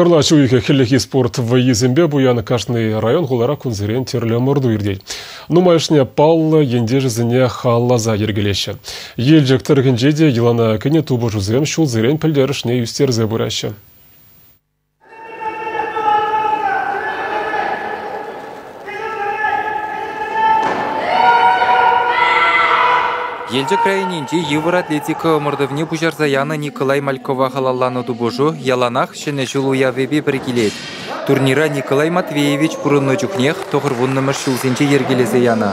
Кӑрлач уйӑхӗ хӗллехи спорт вӑййисемпе пуян кашни район-хулара кунсерен тӗрлӗ ӑмӑрту иртет. Нумайӑшне паллӑ ентешӗсене халалласа йӗркелеҫҫӗ. Елчӗк тӑрӑхӗнче те йӑлана кӗнӗ тупӑшусем ҫулсерен пӗлтерӗшне ӳстерсе пыраҫҫӗ. Елчӗк районӗнчи йывӑр атлетика ӑмӑртӑвне пуҫарса янӑ Николай Малькова халалланӑ тупӑшу яланах Ҫӗнӗ ҫул уявӗпе пӗр килет. Турнира Николай Матвеевич пурӑннӑ чухнех 90-мӗш ҫулсенче йӗркелесе янӑ.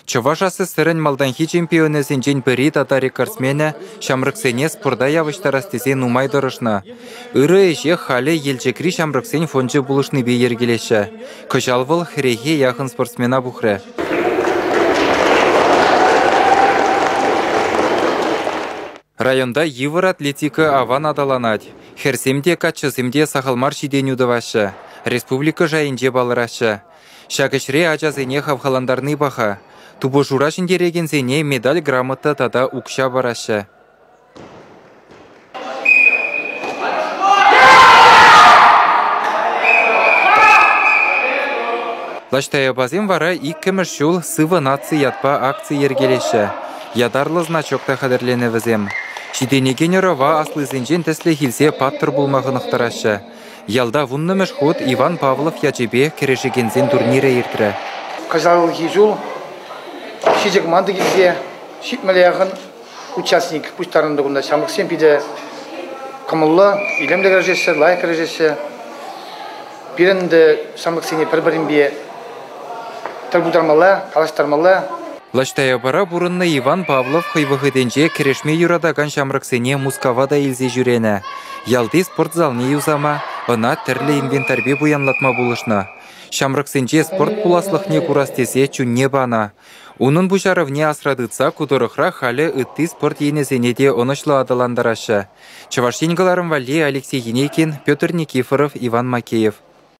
Чӑваш АССРӗн малтанхи чемпионӗсенчен пӗри тата рекордсменӗ ҫамрӑксене спорта явӑҫтарас тесе нумай тӑрӑшнӑ. Ырӑ ӗҫе халӗ Елчӗкри ҫамрӑксен фончӗ пулӑшнипе йӗркелеҫҫӗ. Кӑҫал вӑл хӗрӗхе яхӑн спортсмена пухрӗ. Районта йывӑр атлетика аван аталанать. Хӗрсем те, каччӑсем те сахал мар ҫитӗнӳ тӑваҫҫӗ, республика шайӗнче палӑраҫҫӗ. Ҫак ӗҫре ачасене хавхалантарни паха. Тупӑшура ҫӗнтерекенсене медаль-грамота тата укҫа параҫҫӗ. Лаш Таяпасем вара иккӗмӗш ҫул «Сывӑ наци» ятпа акци йӗркелеҫҫӗ. Ятарлӑ значок та хатӗрленӗ вӗсем. Ҫитӗнекен ӑрӑва аслисенчен тӗслӗх илсе паттӑр пулма хӑнӑхтараҫҫӗ. Ялта вуннӑмӗш хут Иван Павлов ячӗпе кӗрешекенсен турнирӗ иртрӗ. Кӑҫалхи ҫул ҫичӗ команда килсе 70 яхӑн участник пуҫтарӑннӑ кунта. Ҫамрӑксем питӗ кӑмӑллӑ, илемлӗ кӗрешеҫҫӗ, лайӑх кӗрешеҫҫӗ. Пирӗн ӗнтӗ ҫамрӑксене пӗр-пӗринпе тӗл пултармалла, калаҫтармалла. Лаш Таяпара пурӑннӑ Иван Павлов хӑй вӑхӑтӗнче кӗрешме юратакан ҫамрӑксене Мускава та илсе ҫӳренӗ. Ялти спорт залне юсама, ӑна тӗрлӗ инвентарьпе пуянлатма пулӑшнӑ. Ҫамрӑксенче спорт пуласлӑхне курас тесе чунне панӑ. Унӑн пуҫарӑвне асра тытса ку тӑрӑхра халӗ ытти спорт енӗсене те ӑнӑҫлӑ аталантараҫҫӗ. Чӑваш Ен кӑларӑм валли Алексей Енейкин, Петр Никифоров, Иван Макеев.